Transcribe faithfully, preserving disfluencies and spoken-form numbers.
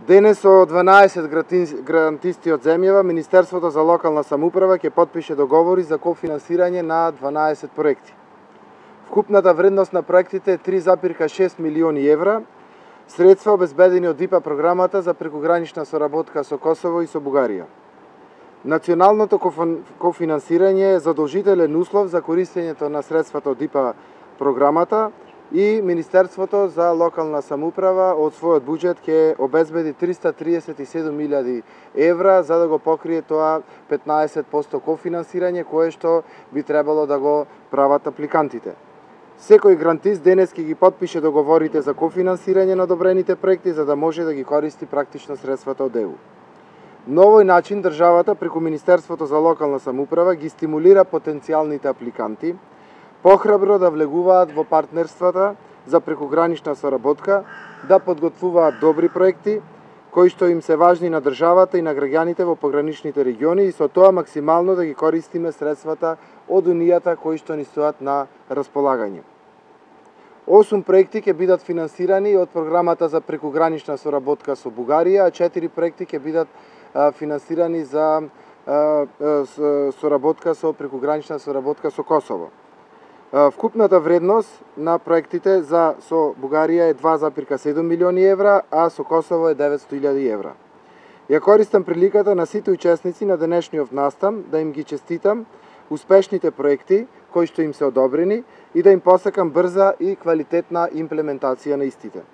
Денес со дванаесет грантисти од земјава, Министерството за локална самоуправа ќе потпише договори за кофинансирање на дванаесет проекти. Вкупната вредност на проектите е три запирка шест милиони евра, средства обезбедени од ИПА програмата за прекогранична соработка со Косово и со Бугарија. Националното кофинансирање е задолжителен услов за користењето на средствата од ИПА програмата и Министерството за локална самоуправа од својот буџет ќе обезбеди триста триесет и седум илјади евра за да го покрие тоа петнаесет проценти кофинансирање кое што би требало да го прават апликантите. Секој грантист денес ќе ги потпише договорите за кофинансирање на одобрените проекти за да може да ги користи практично средствата од Е У. На овој начин државата преку Министерството за локална самоуправа ги стимулира потенцијалните апликанти похрабро да влегуваат во партнерствата за прекогранична соработка, да подготвуваат добри проекти кои што им се важни на државата и на граѓаните во пограничните региони и со тоа максимално да ги користиме средствата од Унијата кои што ни стојат на располагање. осум проекти ќе бидат финансирани од програмата за прекогранична соработка со Бугарија, а четири проекти ќе бидат а, финансирани за а, а, соработка со прекогранична соработка со Косово. Вкупната вредност на проектите за со Бугарија е два запирка седум милиони евра, а со Косово е деветсто илјади евра. Ја користам приликата на сите учесници на денешниот настан да им ги честитам успешните проекти кои што им се одобрени и да им посакам брза и квалитетна имплементација на истите.